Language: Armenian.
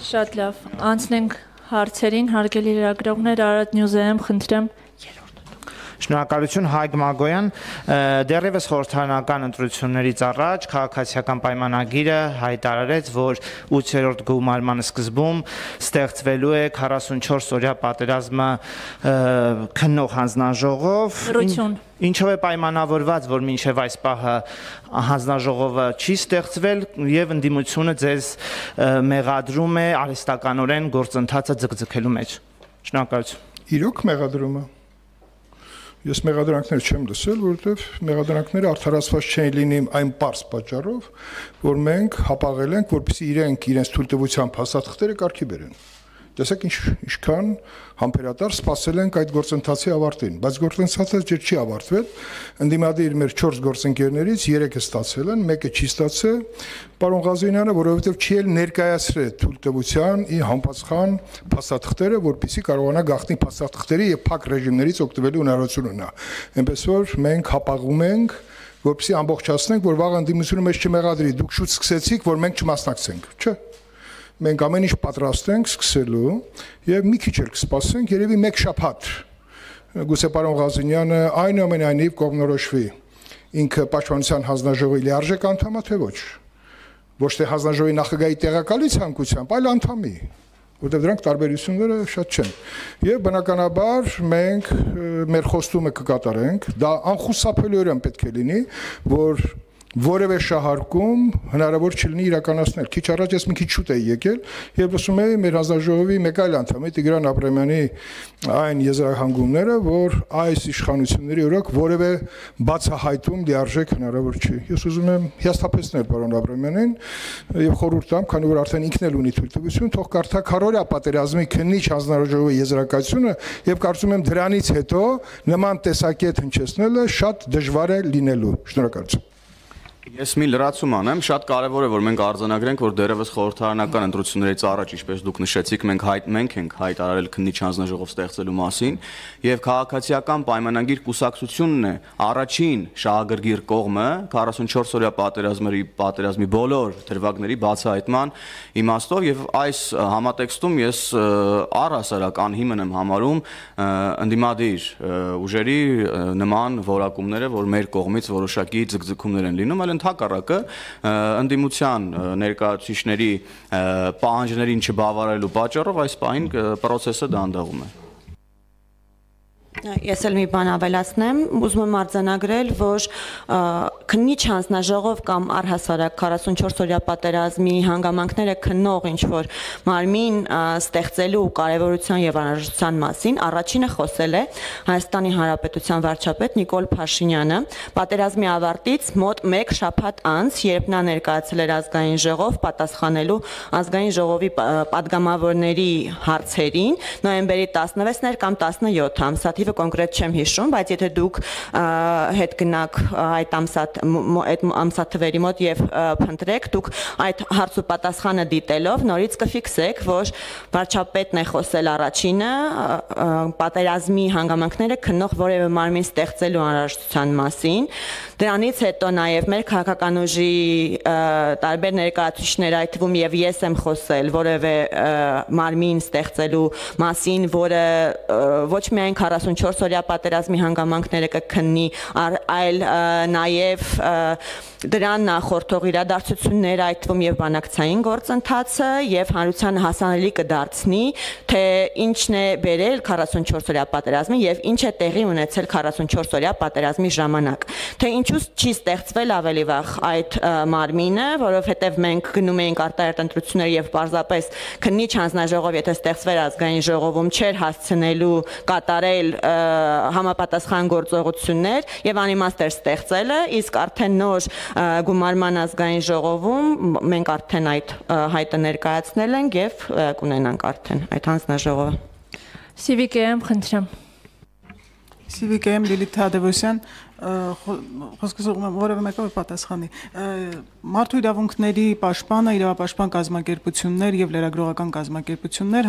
Շատ լավ, անցնենք հարցերին, հարգելի լրագրողներ, Արարատ News-ում խնդրեմ։ Շնորհակալություն Հայկ Մագոյան, դեռևս խորհրդարանական ընտրություններից առաջ քաղաքացիական պայմանագիրը հայտարարեց, որ 8-րդ գումարման սկզբում ստեղծվելու է 44 օրյա պատերազմը քննող հանձնաժողով, ինչով է պայմանավորված, որ մինչև այս պահը հանձնաժողովը չի ստեղծվել եւ ընդդիմությունը ձեզ մեղադրում է արհեստականորեն գործընթացը ձգձգելու մեջ։ Շնորհակալություն։ Իրոք մեղադրումը Ես մեղադրանքներ չեմ լսել, որովհետև մեղադրանքները արդարացված չեն լինի այն պարզ պատճառով, որ մենք հապաղել ենք, որպեսզի իրենց թույլտվությամբ հաստատքները կարգի բերեն։ Տեսեք ինչքան համբերատար սպասել ենք այդ գործընթացի ավարտին, բայց գործընթացը չի ավարտվել։ Ընդդիմադիր մեր 4 գործընկերներից 3-ը ստացել են, 1-ը չի ստացել։ Պարոն Ղազարյանը, որովհետև չի էլ ներկայացրել թույլտվության համապատասխան փաստաթղթերը, որպեսզի կարողանա գաղտնի փաստաթղթերի եւ փակ ռեժիմներից օգտվելու հնարավորություն ունենա։ Այնպես որ մենք հապաղում ենք, որպեսզի ամբողջացնենք, որ վաղ ընդդիմությունը մեզ չմեղադրի։ Դուք շուտ սկսեցիք, որ մենք չմասնակցենք, չէ՞։ Մենք ամեն ինչ պատրաստ ենք սկսելու եւ մի քիչ էլ կսպասենք, երևի մեկ շաբաթ։ Գուցե պարոն Ղազարյանը այնուամենայնիվ կողմնորոշվի ինքը պաշտպանության հանձնաժողովի լիարժեք անդամ է թե ոչ։ Ոչ թե հանձնաժողովի նախագահի տեղակալի ցանկությամբ, այլ անդամի, որտեղ դրանք տարբերությունները շատ չեն։ Եվ բնականաբար մենք մեր խոստումը կկատարենք, դա անխուսափելիորեն պետք է լինի, որ որևէ շահարկում հնարավոր չլինի իրականացնել։ Քիչ առաջ ես մի քիչ շուտ էի եկել եւ լսում էի մեր հանձնաժողովի մեկ այլ անդամի Տիգրան Աբրամյանի այն եզրահանգումները, որ այս իշխանությունների օրոք որևէ բացահայտում լիարժեք հնարավոր չի։ Ես ուզում եմ հիասթափեցնել պարոն Աբրամյանին եւ խորհուրդ տամ, քանի որ արդեն ինքն էլ ունի թույլտվություն, թող կարդա քարորյա պատերազմի քննիչ հանձնաժողովի եզրակացությունը եւ կարծում եմ դրանից հետո նման տեսակետ հնչեցնելը շատ դժվար է լինելու։ Շնորհակալություն։ Ես մի լրացում անեմ, շատ կարևոր է, որ մենք արձանագրենք, որ դեռևս խորհրդարանական ընտրություններից առաջ, ինչպես դուք նշեցիք, մենք ենք հայտարարել քննիչ հանձնաժողով ստեղծելու մասին, եւ քաղաքացիական պայմանագիր կուսակցությունն է առաջին շահագրգիռ կողմը 44 օրյա պատերազմի բոլոր դրվագների բացահայտման իմաստով, եւ այս համատեքստում ես առհասարակ անհիմն եմ համարում ընդդիմադիր ուժերի նման որակումները, որ մեր կողմից որոշակի ձգձգումներ են լինում, այլ ընդհակառակը ընդդիմության ներկայացուցիչների պահանջներին չբավարարելու պատճառով այս պահին պրոցեսը դանդաղում է։ Ես էլ մի բան ավելացնեմ, ուզում եմ արձանագրել, որ քննիչ հանձնաժողով կամ առհասարակ 44 օրյա պատերազմի հանգամանքները քննող ինչ-որ մարմին ստեղծելու կարևորության եւ անհրաժեշտության մասին առաջինը խոսել է Հայաստանի Հանրապետության վարչապետ Նիկոլ Փաշինյանը պատերազմի ավարտից մոտ 1 շաբաթ անց, երբ նա ներկայացել էր ազգային ժողով պատասխանելու ազգային ժողովի պատգամավորների հարցերին նոյեմբերի 16-ներ կամ 17 ամսաթիվ կոնկրետ չեմ հիշում, բայց եթե դուք հետ գնաք այդ ամսաթվերի մոտ եւ փնտրեք, դուք այդ հարց ու պատասխանը դիտելով նորից կֆիքսեք, որ վարչապետն է խոսել առաջինը պատերազմի հանգամանքները քննող որևէ մարմին ստեղծելու անհրաժեշտության մասին։ Դրանից հետո նաեւ մեր քաղաքական ուժի տարբեր ներկայացուցիչներ, այդ թվում եւ ես եմ խոսել որևէ մարմին ստեղծելու մասին, որը ոչ միայն 44 օրյա պատերազմի հանգամանքները կքննի, այլ նաև դրան նախորդող իրադարձությունները, այդ թվում եւ բանակցային գործընթացը եւ հանրությանը հասանելի կդարձնի, թե ինչն է բերել 44 օրյա պատերազմին եւ ինչ է տեղի ունեցել 44 օրյա պատերազմի ժամանակ, թե ինչու չի ստեղծվել ավելի վաղ այդ մարմինը, որովհետեւ մենք գնում էինք արտահերտ ընտրություններ եւ պարզապես քննիչ հանձնաժողով, եթե ստեղծվեր ազգային ժողովում, չէր հասցնելու կատարել համապատասխան գործողություններ եւ անիմաստ էր ստեղծելը, իսկ արդեն նոր գումարման ազգային ժողովում մենք արդեն այդ հայտը ներկայացնել ենք եւ կունենանք արդեն այդ հանձնաժողովը։ Civic-ում խնդրեմ։ Civic-ում Լիլիթ Թադևոսյան, խոսքս որևէ մեկը պատասխանի։ Մարդու իրավունքների պաշտպանը, իրավապաշտպան կազմակերպություններ եւ լրագրողական կազմակերպություններ